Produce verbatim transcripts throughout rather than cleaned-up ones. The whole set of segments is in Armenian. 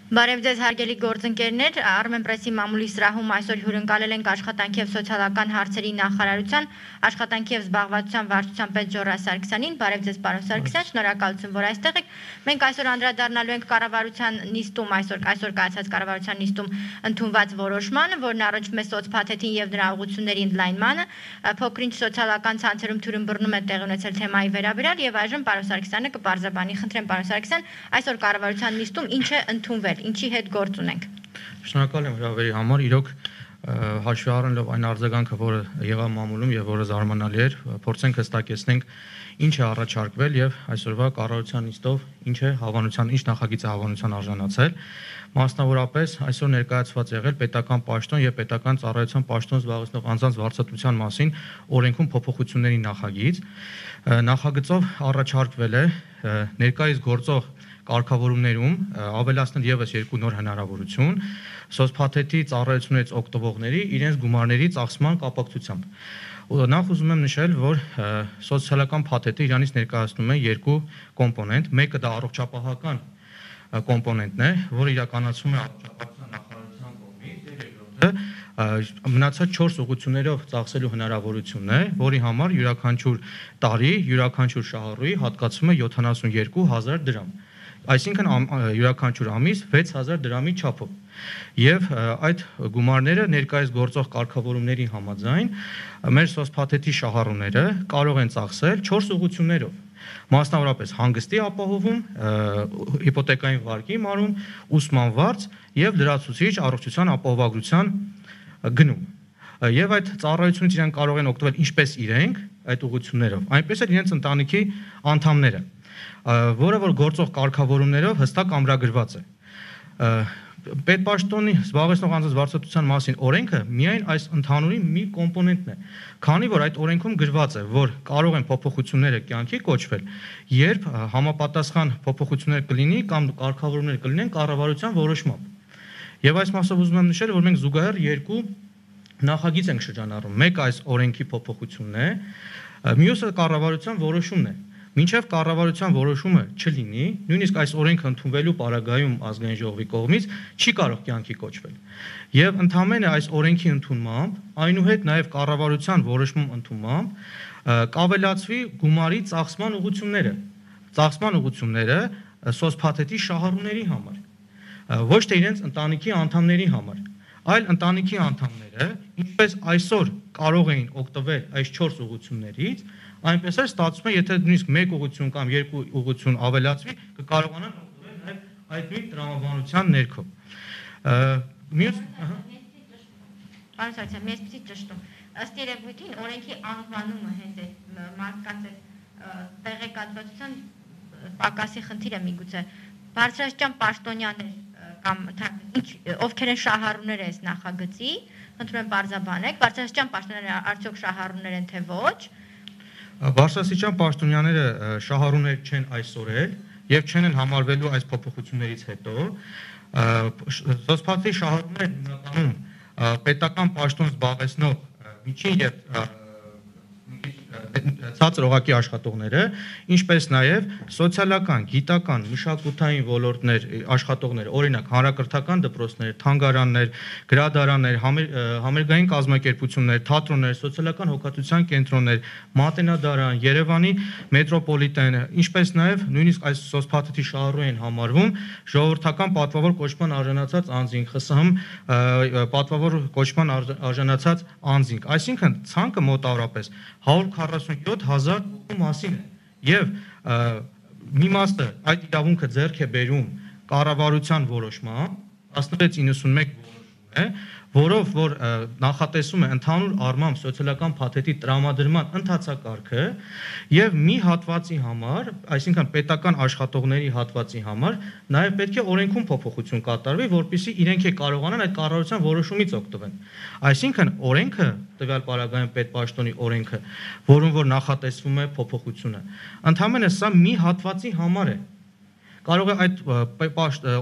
Բարև ձեզ հարգելի գործընկերներ, Armen Press-ի մամուլի սրահում այսօր հյուրընկալել ենք աշխատանքի եւ սոցիալական հարցերի նախարարության աշխատանքի եւ զբաղվածության վարչության պետ Ժորա Սարգսյանին։ Բարև ձեզ, պարոն Սարգսյան, շնորհակալություն, որ այստեղ եք։ Մենք այսօր անդրադառնալու ենք կառավարության նիստում, այսօր այսօր կայացած կառավարության նիստում ընդունված որոշմանը, որն առնչվում է սոցփաթեթին եւ դրա ուղղությունների ընդլայնմանը, փոքրինչ սոցիալական ցանցերում թյուրըմբռնում է տեղի ունեցել թեմայի վերաբերյալ եւ այժմ պարոն Սարգսյանը կպարզաբանի։ Խնդրեմ, պարոն Սարգսյան, այսօր կառավարության նիստում ինչ է ընդունվել, ինչի հետ գործ ունենք։ Շնորհակալ եմ հրավերի համար, իրոք հաշվի առնելով այն արձագանքը, որը եղավ մամուլում եւ որը զարմանալի էր, փորձենք հստակեցնենք ինչ է առաջարկվել եւ այսօրվա կառավարության նիստով ինչ է հավանության, ինչ նախագիծ է հավանության արժանացել։ Մասնավորապես այսօր ներկայացված եղել պետական պաշտոն եւ պետական ծառայության պաշտոն զբաղեցնող անձանց վարձատրության մասին օրենքում փոփոխությունների նախագիծ։ Նախագծով առաջարկվել է ներկայիս գործող կարգավորումներում ավելացնել եւս երկու նոր հնարավորություն սոցփաթեթի ծառայություններից օգտվողների իրենց գումարների ծախսման կապակցությամբ։ Նախ ուզում եմ նշել, որ սոցիալական փաթեթը իրանից ներկայացնում է երկու կոմպոնենտ, մեկը դա առողջապահական կոմպոնենտն է, որը իրականացվում է առողջապահության նախարարության կողմից, եւ երկրորդը մնացած չորս ուղղություններով ծախսելու հնարավորությունն է, որի համար յուրաքանչյուր տարի յուրաքանչյուր շահառուի հատկացվում է յոթանասունյոթ հազար դրամ։ Այսինքն յուրաքանչյուր ամիս վեց հազար դրամի չափով։ Եվ այդ գումարները ներկայիս գործող կարգավորումների համաձայն մեր սոցփաթեթի շահառուները կարող են ծախսել չորս ուղղություններով։ Մասնավորապես հանգստի ապահովում, հիպոթեկային վարկի մարում, ուսման վարձ եւ լրացուցիչ առողջության ապահովագրության գնում։ Եվ այդ ծառայությունից իրենք կարող են օգտվել ինչպես իրենք այդ ուղղություններով, այնպես էլ իրենց ընտանիքի անդամները, որը որ գործող կարգավորումներով հստակ ամրագրված է։ Պետպաշտոնի զբաղեցնող անձանց վարձատրության մասին օրենքը միայն այս ընդհանուրի մի կոմպոնենտն է, քանի որ այդ օրենքում գրված է, որ կարող են փոփոխությունները կյանքի կոչվել, երբ համապատասխան փոփոխություններ կլինի կամ կարգավորումներ կլինեն կառավարության որոշմամբ։ Եվ այս մասով ուզում եմ նշել, որ մենք զուգահեռ երկու նախագիծ ենք շրջանառում։ Մեկը այս օրենքի փոփոխությունն է, մյուսը կառավարության որոշումն է։ Մինչև կառավարության որոշումը չլինի, նույնիսկ այս օրենքը ընդունվելու պարագայում ազգային ժողովի կողմից չի կարող կյանքի կոչվել։ Եվ ընդհանրապես այս օրենքի ընդունմամբ, այնուհետ նաև կառավարության որոշում ընդունմամբ կավելացվի գումարի ծախսման ուղղությունները, ծախսման ուղղությունները սոցփաթեթի շահառուների համար, ոչ թե իրենց ընտանիքի անդամների համար, այլ ընտանիքի անդամները, ինչպես այսօր կարող էին օգտվել այս չորս ուղղություններից, այնպես էլ ստացվում է, եթե նույնիսկ մեկ ուղղություն կամ երկու ուղղություն ավելացվի, կկարողանան օգտվել նաև այդ նույն տրամաբանության ներքո։ Մյուս Պարոն Սարգսյան, մի էսպիսի ճշտում։ Ըստ երևույթին օրենքի անվանումը հենց այդ մարդկանց տեղեկատվության պակասի խնդիրը միգուցե բարձրաստիճան պաշտոնյաներ կամ ովքեր են շահառուները այս նախագծի, խնդրում եմ պարզաբանեք, բարձրաստիճան պաշտոնյաները արդյոք շահառուներ են թե ոչ։ Բարձրաստիճան պաշտոնյաները շահառուներ չեն այսօր էլ եւ չեն էլ համարվելու այս փոփոխություններից հետո։ Սոցփաթեթի շահառուները հիմնականում պետական պաշտոն զբաղեցնող միջին եւ ցածր օղակի աշխատողները, ինչպես նաև սոցիալական, գիտական, մշակութային ոլորտներ աշխատողներ, օրինակ հանրակրթական դպրոցներ, թանգարաններ, գրադարաններ, համերգային կազմակերպություններ, թատրոններ, սոցիալական հոգատության կենտրոններ, մատենադարան, Երևանի մետրոպոլիտեն, ինչպես նաև նույնիսկ այս սոցփաթեթի շահառու են համարվում ժողովրդական պատվավոր կոչման արժանացած անձինք, ԽՍՀՄ պատվավոր կոչման արժանացած անձինք, այսինքն ցանկը մոտավորապես հարյուր քառասունյոթ հազար մասին է եւ մի մասը այդ իրավունքը ձեռք է բերում կառավարության որոշմամբ տասնվեց իննսունմեկ որոշում է, որով որ նախատեսում է ընդհանուր առմամբ սոցիալական փաթեթի տրամադրման ընթացակարգը եւ մի հատվածի համար, այսինքն պետական աշխատողների հատվածի համար նաեւ պետք է օրենքում փոփոխություն կատարվի, որպեսզի իրենք է կարողանան այդ կառավարության որոշումից օգտվեն։ Այսինքն օրենքը տվյալ պարագայում պետպաշտոնի օրենքը, որում որ նախատեսվում է փոփոխությունը, ընդհանրապես սա մի հատվածի համար է։ Կարող է այդ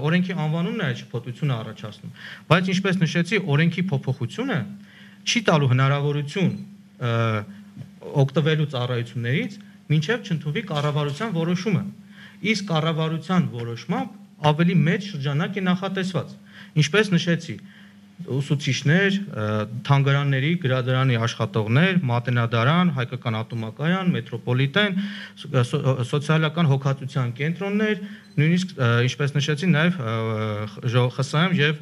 օրենքի անվանումն է այդ շփոթությունը առաջացնում, բայց ինչպես նշեցի, օրենքի փոփոխությունը չի տալու հնարավորություն օգտվելու ծառայություններից, մինչև չընդունվի կառավարության որոշումը։ Իսկ կառավարության որոշմամբ ավելի մեծ շրջանակ է նախատեսված։ Ինչպես նշեցի, ուսուցիչներ, թանգարանների, գրադարանի աշխատողներ, մատենադարան, հայկական ատոմակայան, մետրոպոլիտեն, սոցիալական հոգացության կենտրոններ, նույնիսկ ինչպես նշեցի, նաև ԽՍՀՄ եւ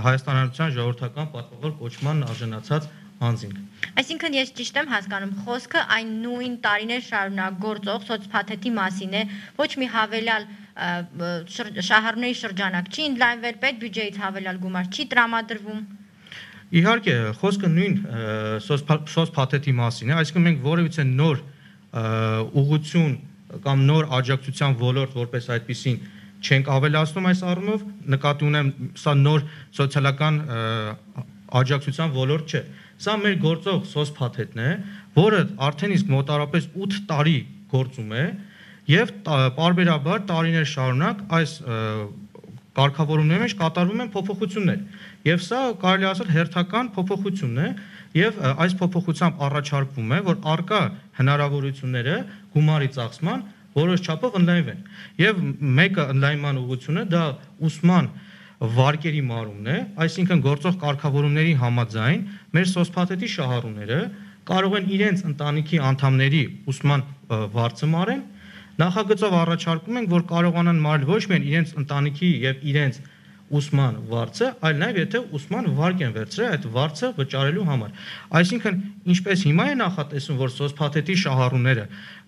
Հայաստան Հանրապետության ժողովրդական պատվավոր կոչման արժանացած անձինք։ Այսինքն ես ճիշտ եմ հասկանում, խոսքը այն նույն տարիներ շարունակ գործող սոցփաթեթի մասին է, ոչ մի հավելյալ շահառուների շրջանակ չի ընդլայնվել, պետբյուջեից հավելյալ գումար չի տրամադրվում։ Իհարկե, խոսքը նույն սոցփաթեթի մասին է, այսինքն մենք որևիցե նոր ուղղություն կամ նոր աջակցության ոլորտ որպես այդպեսին չենք ավելացնում այս առումով, նկատի ունեմ, սա նոր սոցիալական աջակցության ոլորտ չէ։ Սա մեր գործող սոցփաթեթն է, որը արդեն իսկ մոտարապես ութ տարի գործում է եւ պարբերաբար տարիներ շարունակ այս կարգավորումների մեջ կատարվում են փոփոխություններ։ Եվ սա կարելի ասել հերթական փոփոխությունն է եւ այս փոփոխությամբ առաջարկվում է, որ արկա հնարավորությունները գումարի ծախսման որոշ չափով ընդլայնվեն։ Եվ մեկը ընդլայնման ուղղությունը դա ուսման վարկերի մարումն է, այսինքն գործող կարգավորումների համաձայն մեր սոցփաթեթի շահառուները կարող են իրենց ընտանիքի անդամների ուսման վարձը մարեն, նախագծով առաջարկում ենք, որ կարողանան մարել ոչ միայն իրենց ընտանիքի եւ իրենց ուսման վարձը, այլ նաեւ եթե ուսման վարկ են վերցրել այդ վարձը վճարելու համար։ Այսինքն, ինչպես հիմա է նախատեսվում, որ սոցփաթեթի շահառուները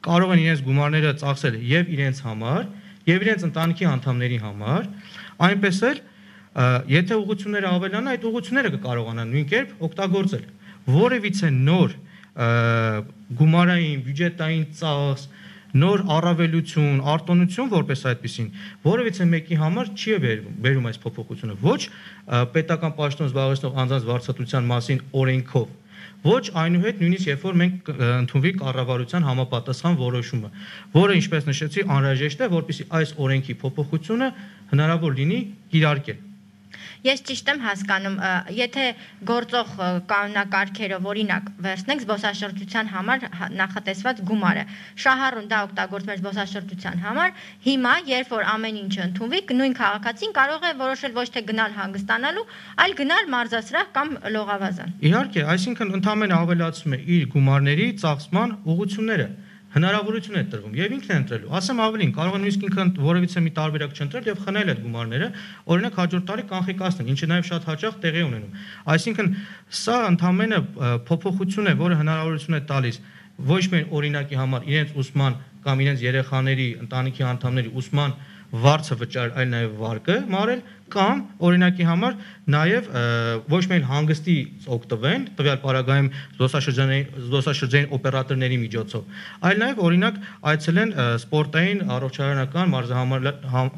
կարող են իրենց գումարները ծախսել եւ իրենց համար, եւ իրենց ընտանիքի անդամների համար, այնպես էլ եթե ուղղությունները ավելանան, այդ ուղղությունները կկարողանան նույն կերպ օգտագործել։ Որևիցե նոր գումարային, բյուջետային ծախս, նոր առավելություն, արտոնություն որպես այդպեսին, որևիցե մեկի համար չի բերում այս փոփոխությունը, ոչ պետական պաշտոն զբաղեցնող անձանց վարձատրության մասին օրենքով, ոչ այնուհետ նույնիսկ երբ որ մենք ընդունվի կառավարության համապատասխան որոշումը, որը ինչպես նշեցի, անհրաժեշտ է, որպեսզի այս օրենքի փոփոխությունը հնարավոր լինի կիրարկել։ Ես ճիշտ եմ հասկանում, եթե գործող կանոնակարգերով օրինակ վերցնենք զբոսաշրջության համար նախատեսված գումարը, շահառուն դա օգտագործում էր զբոսաշրջության համար, հիմա երբ որ ամեն ինչը ընդունվի, նույն քաղաքացին կարող է որոշել ոչ թե գնալ հանգստանալու, այլ գնալ մարզասրահ կամ լողավազան։ Իհարկե, այսինքն ընդհանրապես ավելացում է իր գումարների ծախսման ուղղությունները։ Հնարավորություն է տրվում եւ ինքն է ընտրելու։ Ասեմ ավելին, կարող է նույնիսկ ինքը որևիցե մի տարբերակ չընտրել եւ խնել այդ գումարները, օրինակ հաջորդ տարի կանխիկացնել, ինչը նաեւ շատ հաճախ տեղի ունենում։ Այսինքն սա ընդհանրապես փոփոխություն է, որը հնարավորություն է տալիս ոչ միայն օրինակի համար իրենց ուսման կամ իրենց երեխաների, ընտանիքի անդամների ուսման վարձը վճարել, այլ նաեւ վարկը մարել կամ օրինակի համար նաեւ ոչ միայն հանգստի օգտվեն, տվյալ պարագայում զբոսաշրջանային զբոսաշրջանային օպերատորների միջոցով, այլ նաեւ օրինակ այցելեն սպորտային առողջարանական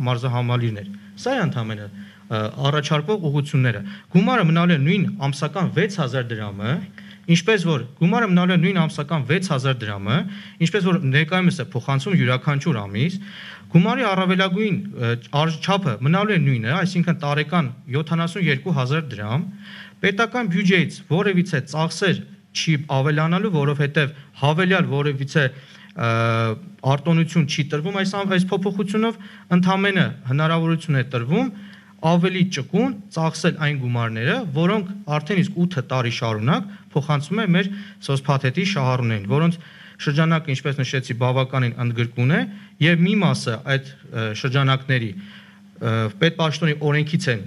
մարզահամալիրներ։ Սա է ընդհանրապես առաջարկվող ուղղությունները։ Գումարը մնալու է նույն ամսական վեց հազար դրամը, ինչպես որ գումարը մնալու է նույն ամսական վեց հազար դրամը, ինչպես որ ներկայումս է փոխանցում յուրաքանչյուր ամիս, գումարի առավելագույն չափը մնալու է նույնը, այսինքն տարեկան յոթանասունյոթ հազար դրամ, պետական բյուջեից որևիցե ծախսեր չի ավելանալու, որովհետև հավելյալ որևիցե արտոնություն չի տրվում այս այս փոփոխությունով, ընդհանրապես հնարավորություն է տրվում ավելի ճկուն ծախսել այն գումարները, որոնք արդեն իսկ ութ տարի շարունակ փոխանցում է մեր սոցփաթեթի շահառուներին, որոնց շրջանակը, ինչպես նշեցի, բավականին ընդգրկուն է եւ մի մասը այդ շրջանակների պետպաշտոնի օրենքից են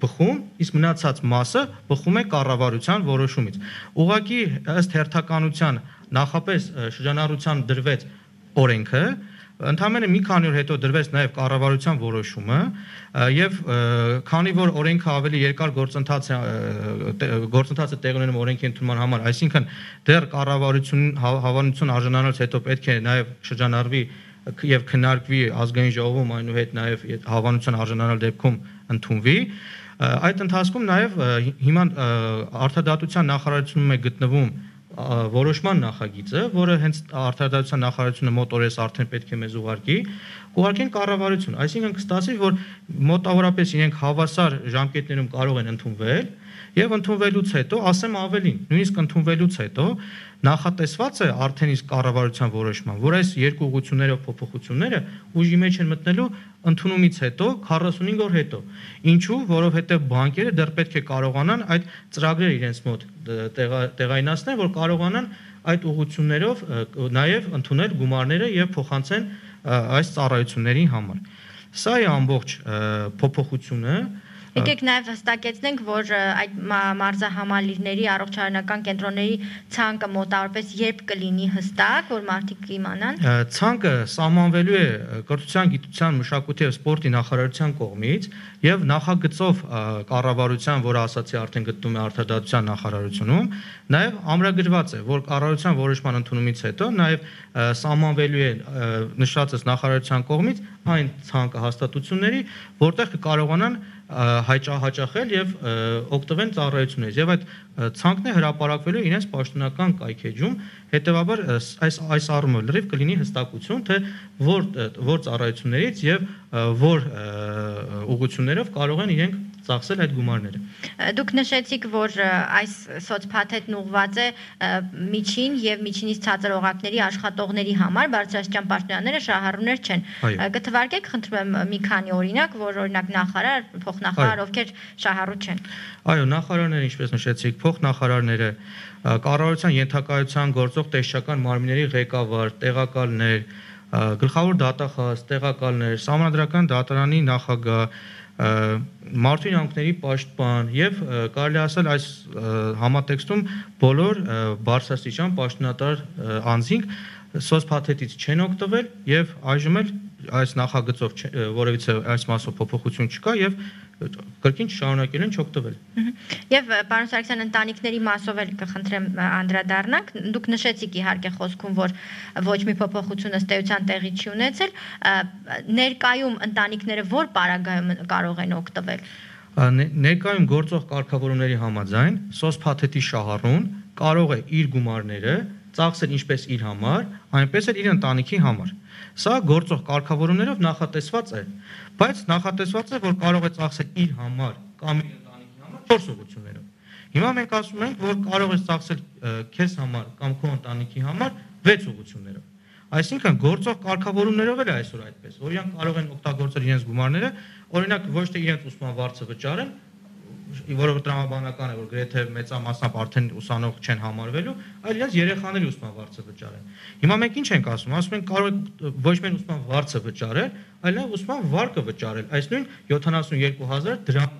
բխում, իսկ մնացած մասը բխում է կառավարության որոշումից։ Ուղղակի ըստ հերթականության նախապես շրջանառության դրվեց օրենքը, ընդհանրապես մի քանի օր հետո դրվեց նաև կառավարության որոշումը եւ քանի որ օրենքը ավելի երկար գործընթաց է գործընթացը տեղ ունենում օրենքի ընդունման համար, այսինքն դեռ կառավարություն հավանություն արժանանալուց հետո պետք է նաև շրջանառվի եւ քննարկվի ազգային ժողովում, այնուհետ նաև հավանության արժանանալ դեպքում ընդունվի, այդ ընթացքում նաև հիմա արտադատության նախարարությունում է գտնվում որոշման նախագիծը, որը հենց արտադրության նախարարությունը մոտ օրես արդեն պետք է մեզ ուղարկի, ուղարկեն կառավարություն, այսինքն կստացի, որ մոտավորապես իրենք հավասար ժամկետներում կարող են ընդունվել եւ ընդունվելուց հետո, ասեմ ավելին, նույնիսկ ընդունվելուց հետո նախատեսված է արդեն իսկ կառավարության որոշման, որ այս երկու ուղղություններով փոփոխությունները ուժի մեջ են մտնելու ընդունումից հետո քառասունհինգ օր հետո։ Ինչու, որովհետեւ բանկերը դեռ պետք է կարողանան այդ ծրագրերը իրենց մոտ տեղայնացնել, որ կարողանան այդ ուղղություններով նաեւ ընդունել գումարները եւ փոխանցեն այս ծառայությունների համար։ Սա է ամբողջ փոփոխությունը։ Եկեք նաև հստակեցնենք, որ այդ մարզահամալիրների առողջարանական կենտրոնների ցանկը մոտավորապես երբ կլինի հստակ, որ մարդիկ իմանան։ Ցանկը սահմանվելու է կրթության, գիտության, մշակույթի եւ սպորտի նախարարության կողմից եւ նախագծով կառավարության, որը ասացի արդեն գտնվում է արտադրության նախարարությունում, նաեւ ամրագրված է, որ կառավարության որոշման ընդունումից հետո նաեւ սահմանվելու է նշածս նախարարության կողմից այն ցանկը հաստատությունների, որտեղ կկարողանան հաճախել եւ օգտվեն ծառայություններից եւ այդ ցանկն է հրապարակվելու իրենց պաշտոնական կայքեջում, հետեւաբար այս այս առումով լրիվ կլինի հստակություն, թե որ որ ծառայություններից եւ որ ուղղություններով կարող են իրենք ծախսել այդ գումարները։ Դուք նշեցիք, որ այս սոցփաթեթն ուղղված է միջին եւ միջինից ցածր օղակների աշխատողների համար, բարձրաստիճան պաշտոնյաները շահառուներ չեն։ Կթվարկեք, խնդրում եմ մի քանի օրինակ, որ օրինակ նախարար, փոխնախարար, ովքեր շահառու չեն։ Այո, նախարարները, ինչպես նշեցիք, փոխնախարարները, կառավարության ենթակայության գործող տեսչական մարմինների ղեկավար, տեղակալներ, գլխավոր դատախազ, տեղակալներ, Սահմանադրական դատարանի նախագահ, մարդու իրավունքների պաշտպան եւ կարելի ասել այս համատեքստում բոլոր բարձրաստիճան պաշտոնատար անձինք սոցփաթեթից չեն օգտվել եւ այժմ էլ այս նախագծով որևիցե այս մասով փոփոխություն չկա եւ կրկին շարունակել են չօգտվել։ Եվ պարոն Սարգսյան, ընտանիքների մասով էլ կխնդրեմ անդրադառնանք, դուք նշեցիք իհարկե խոսքում, որ ոչ մի փոփոխություն ըստ էության տեղի չի ունեցել, ներկայում ընտանիքները որ պարագայում կարող են օգտվել։ Ներկայում գործող կարգավորումների համաձայն սոցփաթեթի շահառուն կարող է իր գումարները ծախսել ինչպես իր համար, այնպես էլ իր ընտանիքի համար։ Սա գործող կարգավորումներով նախատեսված է, բայց նախատեսված է, որ կարող է ծախսել իր համար կամ իր ընտանիքի համար չորս ուղղություններով։ Հիմա մենք ասում ենք, որ կարող ես ծախսել քեզ համար կամ քո ընտանիքի համար վեց ուղղություններով։ Այսինքն գործող կարգավորումներով էլ է այսօր այդպես, որ իրանք կարող են օգտագործել իրենց գումարները, օրինակ ոչ թե իրենց ուսման վարձը վճարեն, որովհետեւ տրամաբանական է, որ գրեթե մեծամասնապ արդեն ուսանող չեն համարվելու, այլ իրենց երեխաների ուսման վարձը վճարեն։ Հիմա մենք ինչ ենք ասում, ասում ենք կարող է ոչ միայն ուսման վարձը վճարել, այլ նաեւ ուսման վարկը վճարել, այս նույն յոթանասունյոթ հազար դրամ։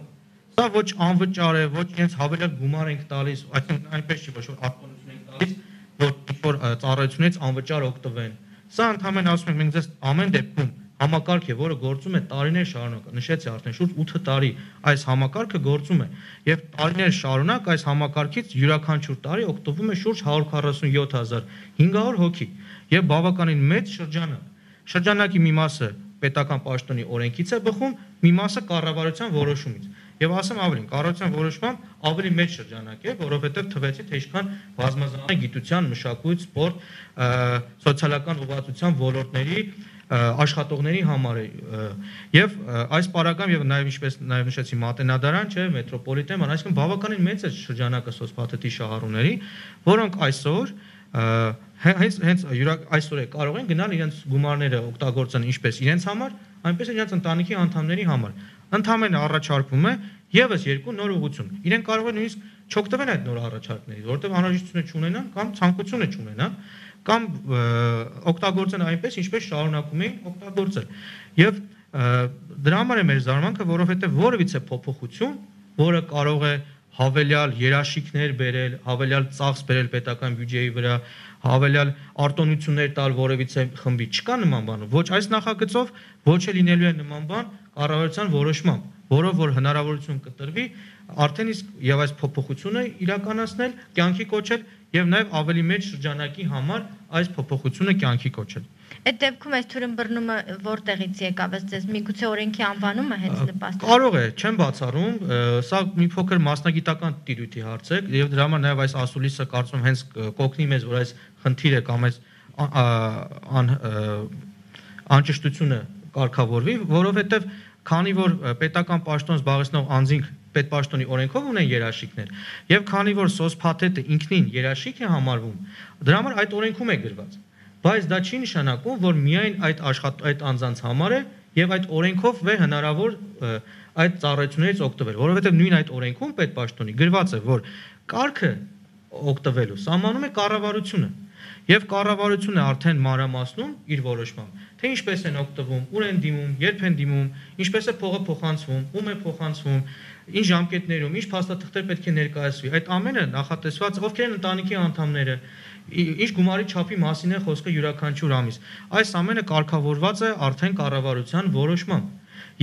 Սա ոչ անվճար է, ոչ իրենց հավելյալ գումար ենք տալիս, այսինքն այնպես չի, ոչ որ արտոնություն ենք տալիս, որ ինչ-որ ծառայությունից անվճար օգտվեն։ Սա ընդհանրապես ասում ենք մենք ձեզ ամեն դեպքում համակարգ է, որը գործում է տարիներ շարունակ, նշեցի արդեն շուրջ ութ տարի այս համակարգը գործում է եւ տարիներ շարունակ այս համակարգից յուրաքանչյուր տարի օգտվում է շուրջ հարյուր քառասունյոթ հազար հինգ հարյուր հոգի եւ բավականին մեծ շրջանակ։ Շրջանակի մի մասը պետական պաշտոնի օրենքից է բխում, մի մասը կառավարության որոշումից։ Եվ ասեմ ավելին, կառավարության որոշմամբ ավելի մեծ շրջանակ է, որովհետեւ թվեցի թե ինչքան բազմազան գիտության, մշակույթ, սպորտ, սոցիալական ուղղվածության ոլորտների աշխատողների համար է եւ այս պարագայում եւ նաեւ ինչպես նաեւ նշեցի մատենադարան, չէ, մետրոպոլիտեն, այսինքն բավականին մեծ է շրջանակը սոցփաթեթի շահառուների, որոնք այսօր հենց հենց այսօր է կարող են գնալ իրենց գումարները օգտագործեն ինչպես իրենց համար, այնպես էլ իրենց ընտանիքի անդամների համար։ Ընդհանրապես առաջարկվում է եւս երկու նոր ուղղություն։ Իրենք կարող են նույնիսկ չօգտվել այդ նոր առաջարկներից, որովհետեւ անհրաժեշտություն չունենան կամ ցանկություն չունենան կամ օգտագործեն այնպես, ինչպես շարունակում էին օգտագործել։ Եվ դրա համար է մեր զարմանքը, որովհետեւ որևիցե փոփոխություն, որը կարող է հավելյալ երաշիքներ բերել, հավելյալ ծախս բերել պետական բյուջեի վրա, հավելյալ արտոնություններ տալ որևիցե խմբի, չկա նման բան։ Ոչ այս նախագծով, ոչ էլ լինելու է նման բան կառավարության որոշմամբ, որով որ հնարավորություն կտրվի արդեն իսկ եւ այս փոփոխությունը իրականացնել, կյանքի կոչել եւ նաեւ ավելի մեծ շրջանակի համար այս փոփոխությունը կյանքի կոչել։ Այդ դեպքում այս թյուրըմբռնումը որտեղից եկավ, ըստ միգուցե օրենքի անվանումը հենց նպաստել։ Կարող է, չեմ բացառում, սա մի փոքր մասնագիտական տիրույթի հարց է եւ դրա համար նաեւ այս ասուլիսը կարծում եմ հենց կօգնի մեզ, որ այս խնդիրը կամ այս անճշտությունը կարգավորվի, որովհետեւ քանի որ պետական պաշտոն զբաղեցնող անձինք պետպաշտոնի օրենքով ունեն երաշխիքներ, եւ քանի որ սոցփաթեթը ինքնին երաշխիք է համարվում, դրա համար այդ օրենքում է գրված։ Բայց դա չի նշանակում, որ միայն այդ աշխատ այդ անձանց համար է եւ այդ օրենքով է հնարավոր այդ ծառայություններից օգտվել, որովհետեւ նույն այդ օրենքում պետպաշտոնի գրված է, որ կարգը օգտվելու սահմանում է կառավարությունը եւ կառավարությունը արդեն մանրամասնում իր որոշմամբ, թե ինչպես են օգտվում, ուր են դիմում, երբ են դիմում, ինչպես է փողը փոխանցվում, ում է փոխանցվում, ինչ ժամկետներում, ինչ փաստաթղթեր պետք է ներկայացվի։ Այդ ամենը նախատեսված ովքեր են ընտանիքի անդամները, ինչ գումարի չափի մասին է խոսքը յուրաքանչյուր ամիս։ Այս ամենը կարգավորված է արդեն կառավարության որոշմամբ։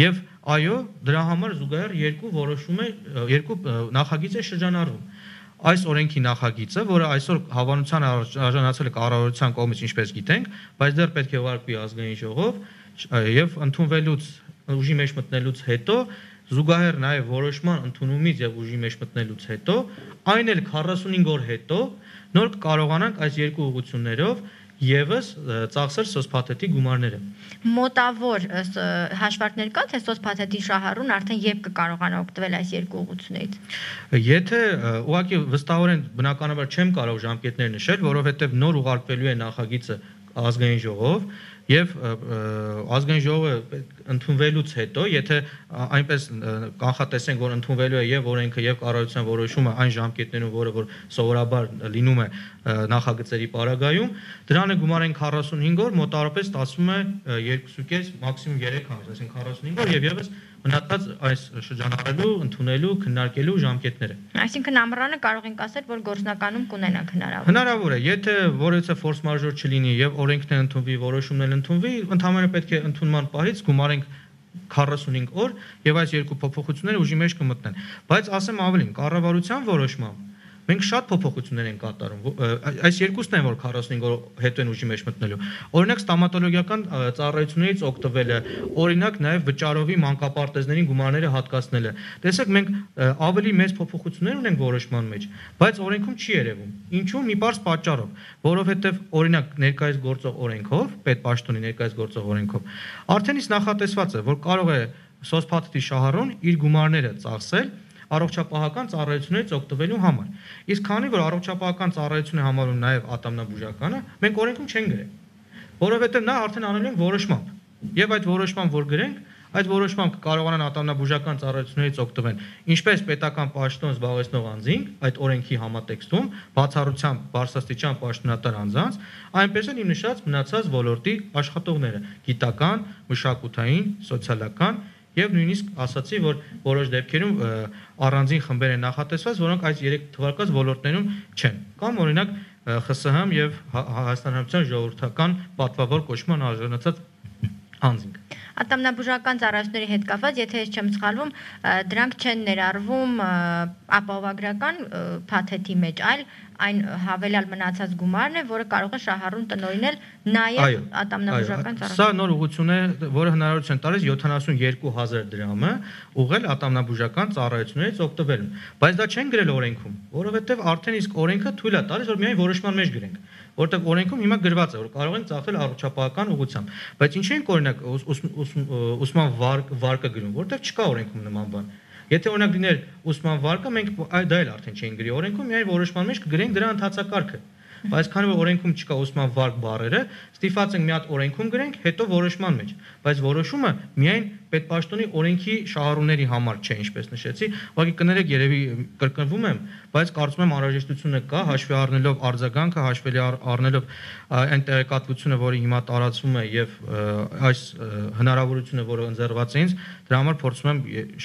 Եվ այո, դրա համար զուգահեռ երկու որոշում է, երկու նախագիծ է շրջանառվում։ Այս օրենքի նախագիծը, որը այսօր հավանության արժանացել է կառավարության կողմից, ինչպես գիտենք, բայց դեռ պետք է ուղարկվի ազգային ժողով եւ ընդունվելուց ուժի մեջ մտնելուց հետո զուգահեռ նաեւ որոշման ընդունումից եւ ուժի մեջ մտնելուց հետո, այն էլ քառասունհինգ օր հետո նոր կկարողանանք այս երկու ուղղություններով Եվս ծախսել սոցփաթեթի գումարները։ Մոտավոր հաշվարկներ կա, թե սոցփաթեթի շահառուն արդեն երբ կկարողանա օգտվել այս երկու ուղղություններից։ Եթե ուղղակի վստահորեն բնականաբար չեմ կարող ժամկետներ նշել, որովհետև նոր ուղարկվելու է նախագիծը ազգային ժողով եւ ազգային ժողովը ընդունվելուց հետո, եթե այնպես կանխատեսենք, որ ընդունվելու է եւ օրենքը եւ կառավարության որոշումը այն ժամկետներում, որը որ սովորաբար լինում է նախագծերի պարագայում, դրան է գումարեն քառասունհինգ օր, մոտավորապես ստացվում է երկուսուկես մաքսիմում երեք ամիս, այսինքն քառասունհինգ օր եւ եւս մնացած այս շրջանառելու, ընդունելու, քննարկելու ժամկետները։ Այսինքն ամռանը կարող ենք ասել, որ գործնականում կունենանք հնարավոր։ Հնարավոր է, եթե որևէ ֆորս մաժոր չլինի եւ օրենքն է ընդունվի, որոշումն է ընդունվի, ընդհանրապես պետք է ընդունման պահից գումարենք քառասունհինգ օր եւ այս երկու փոփոխությունները ուժի մեջ կմտնեն։ Բայց ասեմ ավելին, կառավարության որոշմամբ մենք շատ փոփոխություններ ենք կատարում։ Այս երկուսն են, որ քառասունհինգ օր հետո են ուժի մեջ մտնելու։ Օրինակ ստոմատոլոգիական ծառայություններից օգտվելը, օրինակ նաև վճարովի մանկապարտեզներին գումարները հատկացնելը։ Տեսեք, մենք ավելի մեծ փոփոխություններ ունենք որոշման մեջ, բայց օրենքում չի երևում։ Ինչու՞։ Մի բարձ պատճառով, որովհետև օրինակ ներկայիս գործող օրենքով, պետպաշտոնի ներկայիս գործող օրենքով, արդեն իսկ նախատեսված է, որ կարող է սոցփաթեթի շահառուն իր գումարները ծախսել առողջապահական ծառայություններից օգտվելու համար։ Իսկ քանի որ առողջապահական ծառայություն է համարում նաև ատամնաբուժականը, մենք օրենքում չենք գրել, որովհետև նա արդեն անել են որոշմամբ։ Եվ այդ որոշմամբ որ գրենք, այդ որոշմամբ կարողանան ատամնաբուժական ծառայություններից օգտվեն ինչպես պետական պաշտոն զբաղեցնող անձինք, այդ օրենքի համատեքստում, բացառությամբ բարձրաստիճան պաշտոնատար անձանց, այնպես էլ իմ նշած մնացած ոլորտի աշխատողները՝ գիտական, մշակութային, սոցիալական Եվ նույնիսկ ասացի, որ որոշ դեպքերում առանձին խմբեր են նախատեսված, որոնք այս երեք թվարկած ոլորտներում չեն։ Կամ օրինակ Խ Ս Հ եւ Հայաստան Հանրապետության ժողովրդական պատվավոր կոչման արժանացած անձինք։ Ատամնաբուժական ծառայությունների հետ կապված, եթե ես չեմ սխալվում, դրանք չեն ներառվում ապահովագրական փաթեթի մեջ, այլ այն հավելյալ մնացած գումարն է, որը կարող է շահառուն տնօրինել նաև ատամնաբուժական ծառայություն։ Սա նոր ուղղություն է, որը հնարավորություն տալիս յոթանասունյոթ հազար դրամը ուղղել ատամնաբուժական ծառայություններից օգտվելուն։ Բայց դա չեն գրել օրենքում, որովհետև արդեն իսկ օրենքը թույլ է տալիս, որ միայն որոշման մեջ գրենք, որտեղ օրենքում հիմա գրված է, որ կարող են ծախսել առողջապահական ուղղությամբ։ Բայց ինչի ենք օրինակ ուսման վարկը գրում, որտեղ չկա օրենքում նման բան։ Եթե օրինակ լիներ ուսման վարկը, մենք դա էլ արդեն չէին գրի օրենքում, միայն որոշման մեջ կգրենք դրա ընթացակարգը։ Բայց քանի որ օրենքում չկա ուսման վարկ բառերը, ստիպված ենք մի հատ օրենքում գրենք, հետո որոշման մեջ։ Բայց որոշումը միայն պետպաշտոնի օրենքի շահառուների համար չէ, ինչպես նշեցի, ուղղակի կներեք, երևի կրկնվում եմ, բայց կարծում եմ անհրաժեշտությունը կա, հաշվի առնելով արձագանքը, հաշվի առնելով այն տեղեկատվությունը, որը հիմա տարածվում է եւ այս հնարավորությունը, որը ընձեռված է ինձ, դրա համար փորձում եմ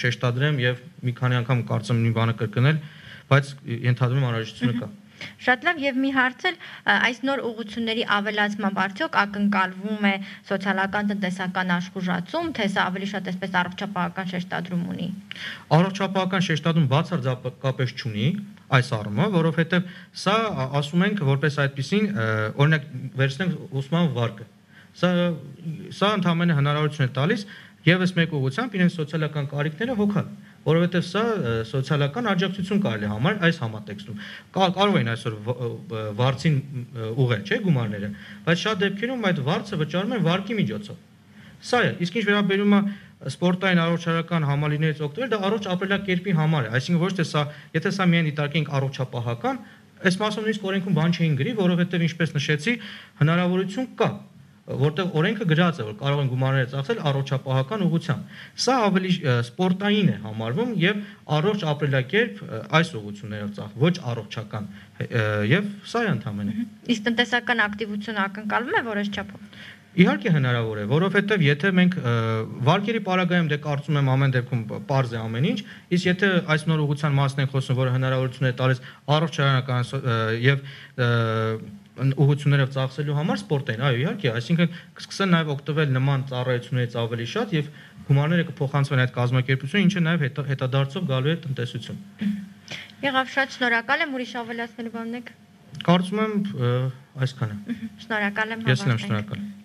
շեշտադրեմ եւ մի քանի անգամ կարծում եմ մի բանը կրկնել, բայց ենթադրում եմ անհրաժեշտությունը կա։ Շատ լավ, եւ մի հարց էլ այս նոր ուղղությունների ավելացմամբ արդյոք ակնկալվում է սոցիալական տնտեսական աշխուժացում, թե սա ավելի շատ այսպես առողջապահական շեշտադրում ունի։ Առողջապահական շեշտադրում բացարձակապես չունի այս առումով, որովհետեւ սա ասում ենք որպես այդպեսին, օրինակ վերցնենք ուսման վարկը։ Սա սա ընդհանրապես հնարավորություն է տալիս եւս մեկ ուղղությամբ իրենց սոցիալական կարիքները հոգալ, որովհետև սա սոցիալական աջակցություն կարելի համարել այս համատեքստում։ Կարող են այսօր վարձին ուղղել, չէ՞, գումարները, բայց շատ դեպքերում այդ վարձը վճարում են վարկի միջոցով։ Սա է, իսկ ինչ վերաբերում է սպորտային առողջարական համալիրներից օգտվել, դա առողջ ապրելակերպի համար է, այսինքն ոչ թե սա, եթե սա միայն դիտարկենք առողջապահական, այս մասում նույնիսկ օրենքում բան չէին գրի, որովհետև ինչպես նշեցի, հնարավորություն կա, որտեղ օրենքը գրած է, որ կարող են գումարները ծախսել առողջապահական ուղղությամբ։ Սա ավելի սպորտային է համարվում եւ առողջ ապրելակերպ այս ուղղություններով ծախ, ոչ առողջական, եւ սա է ընդհանրապես։ Իսկ տնտեսական ակտիվությունը ակնկալվում է որոշ չափով։ Իհարկե հնարավոր է, որովհետև եթե մենք վարկերի պարագայում դե կարծում եմ ամեն դեպքում պարզ է ամեն ինչ, իսկ եթե այս նոր ուղղության մասն ենք խոսում, որը հնարավորություն է տալիս առողջարանական եւ ուղղություններով ծախսելու համար սպորտային, այո, իհարկե, այսինքն կսկսեն նաև օգտվել նման ծառայություններից ավելի շատ եւ գումարները կփոխանցվեն այդ կազմակերպությունը, ինչը նաև հետադարձով գալու է տնտեսություն։ Եղավ, շատ շնորհակալ եմ, ուրիշ ավելացնելու բան ունեք։ Կարծում եմ այսքանը։ Շնորհակալ եմ։ Ես եմ շնորհակալ։